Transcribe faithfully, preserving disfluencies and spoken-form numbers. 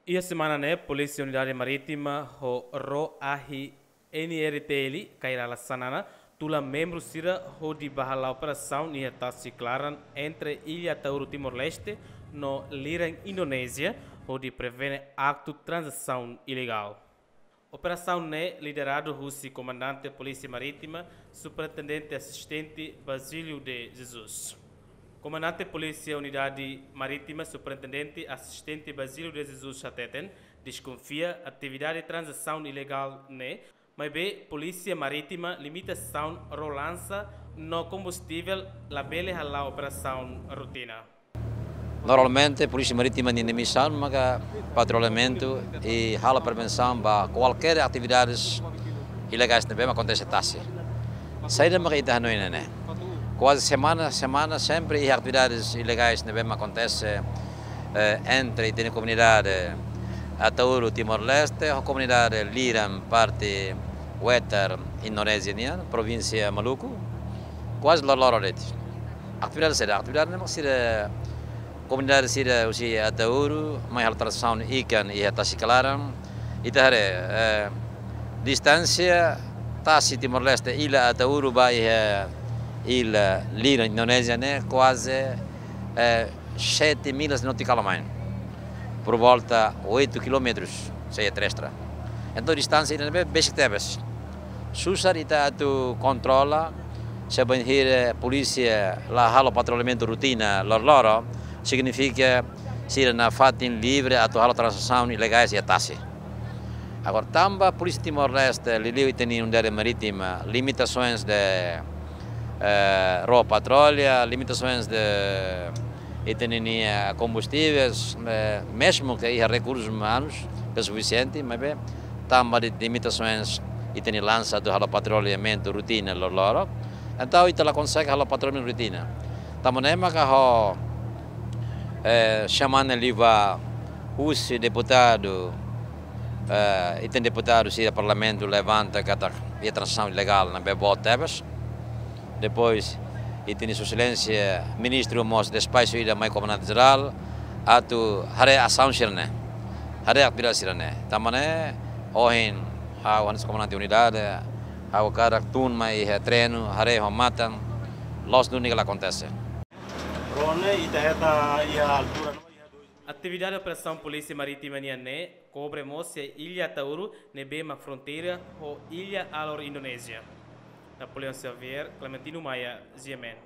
Iha semana ne'e, Polísia Unidade Marítima ho RAEOA N R T L, Kairala Xanana, tula membru sira hodi bá hala'o operasaun iha tasi klaran entre Ilha Ataúru, Timor-Leste, no Liran, Indonézia, hodi prevene aktu tranzasaun ilegál. Operasaun ne'e lideradu husi Komandante Polísia Marítima, Superintendente Asistente Basílio de Jesus. Komandante Polísia Unidade Marítima, Superintendente Asistente Basílio de Jesus hateten, deskonfia atividade tranzasaun ilegál ne'e, maibé Polísia Marítima limitasaun ró lansa no kombustivel labele hala'o operasaun rotina. Normalmente, Polísia Marítima ninia misaun maka patrulhamentu i halo prevensaun ba kualkér atividades ilegais ne'ebé mak akontese tasi. Saida maka ita hanoin ne'e? Kuaze semana, semana sempre iha atividades ilegais ne'ebé mak akontese, eh, entre ita-nia komunidade Ataúru, Timor-Leste, ho komunidade Liran, parte wetar Indonézia nian, provínsia Maluku. Kuaze loroloron de'it. Atividade saida? Atividade ne'e mak sira, komunidade sira husi Ataúru mai halo tranzasaun ikan iha tasi klaran. Ita haree, eh, distánsia tasi Timor-Leste, Ilha Ataúru ba iha Ilha Liran, Indonézia ne'e kuaze, eh, sete millas nautikál a mais. Por volta oito quilómetros, se é terrestre. Entaun, distánsia ida-ne'ebé besik tebes. Susar ita atu kontrola, se bainhira polísia la halo patrulhamentu rotina loroloron, signifika sira iha fatin livre atu halo tranzasaun ilegais iha tasi. Agora, tanba Polísia Timor-Leste, liuliu ita-nia Unidade Marítima, limitasoens de, eh, ró patrulla, limitasoens de ita-nia, eh, kombustivel, eh, mezmu ke iha rekursus umanus ke sufisiente, maibé tanba de limitasoens ita-nia lansa atu halo patrullamentu rotina loroloron. Entaun, ita la konsege halo patrullamentu rotina. Tanba ne'e maka ho, eh, semana liubá husi deputadu, eh, ita-nia deputadu sira Parlamentu levanta katak iha tranzasaun ilegál ne'ebé boot tebes. Depois, ita-nia Sua Exelénsia Ministru mós despaxu ida mai Komandante Jerál atu haree asaun sira-ne'e. Haree atividade sira-ne'e. Tanba ne'e, ohin, ha'u hanesan komandante unidade, ha'u hakarak tun mai iha terrenu, haree ho matan, loos duni ne'e la akontese. Ró ne'e ita hetan iha altura no iha dois. Atividade operasaun Polísia Marítima nian ne'e kobre mós iha Ilha Ataúru ne'ebé mak fronteira ho Ilha Alor, Indonézia. Napoleão Xavier, Clementino Maia, G M N.